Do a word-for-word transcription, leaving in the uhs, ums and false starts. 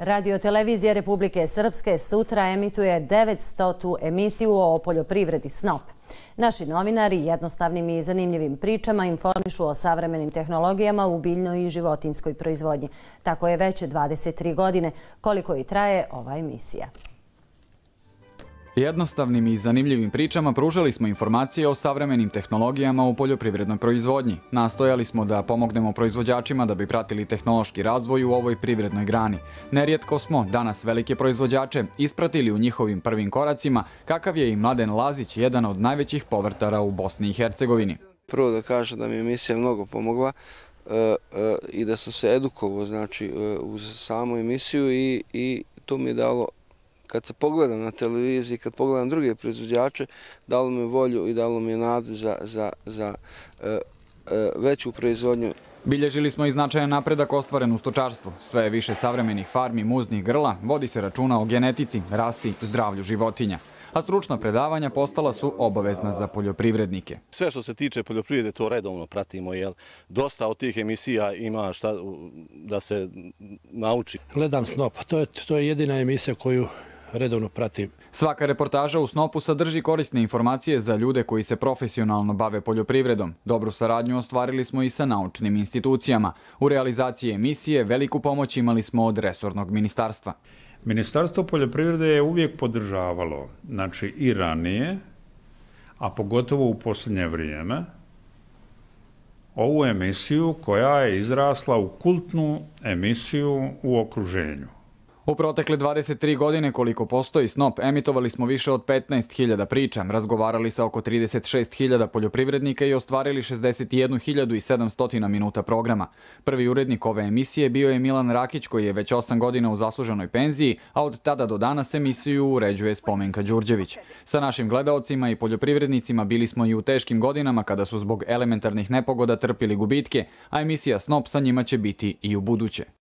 Radio-televizija Republike Srpske sutra emituje devetstotu emisiju o poljoprivredi Snop. Naši novinari jednostavnim i zanimljivim pričama informišu o savremenim tehnologijama u biljnoj i životinjskoj proizvodnji. Tako je već dvadeset tri godine koliko i traje ova emisija. Jednostavnim i zanimljivim pričama pružali smo informacije o savremenim tehnologijama u poljoprivrednoj proizvodnji. Nastojali smo da pomognemo proizvođačima da bi pratili tehnološki razvoj u ovoj privrednoj grani. Nerijetko smo danas velike proizvođače ispratili u njihovim prvim koracima, kakav je i Mladen Lazić, jedan od najvećih povrtara u Bosni i Hercegovini. Prvo da kažem da mi je emisija mnogo pomogla i da sam se edukovao znači, uz samu emisiju i, i to mi je dalo, kad se pogledam na televiziji, kad pogledam druge proizvođače, dalo mi volju i dalo mi nadu za, za, za e, e, veću proizvodnju. Bilježili smo i značajan napredak ostvaren u stočarstvu. Sve je više savremenih farmi muznih grla, vodi se računa o genetici, rasi, zdravlju životinja. A stručna predavanja postala su obavezna za poljoprivrednike. Sve što se tiče poljoprivrede to redovno pratimo, jer dosta od tih emisija ima šta da se nauči. Gledam Snop, to je, to je jedina emisija koju redovno pratim. Svaka reportaža u Snopu sadrži korisne informacije za ljude koji se profesionalno bave poljoprivredom. Dobru saradnju ostvarili smo i sa naučnim institucijama. U realizaciji emisije veliku pomoć imali smo od resornog ministarstva. Ministarstvo poljoprivrede je uvijek podržavalo, znači i ranije, a pogotovo u posljednje vrijeme, ovu emisiju koja je izrasla u kultnu emisiju u okruženju. U protekle dvadeset tri godine koliko postoji Snop, emitovali smo više od petnaest hiljada priča, razgovarali sa oko trideset šest hiljada poljoprivrednika i ostvarili šezdeset jednu hiljadu sedamsto minuta programa. Prvi urednik ove emisije bio je Milan Rakić, koji je već osam godina u zasluženoj penziji, a od tada do danas emisiju uređuje Spomenka Đurđević. Sa našim gledaocima i poljoprivrednicima bili smo i u teškim godinama kada su zbog elementarnih nepogoda trpili gubitke, a emisija Snop sa njima će biti i u buduće.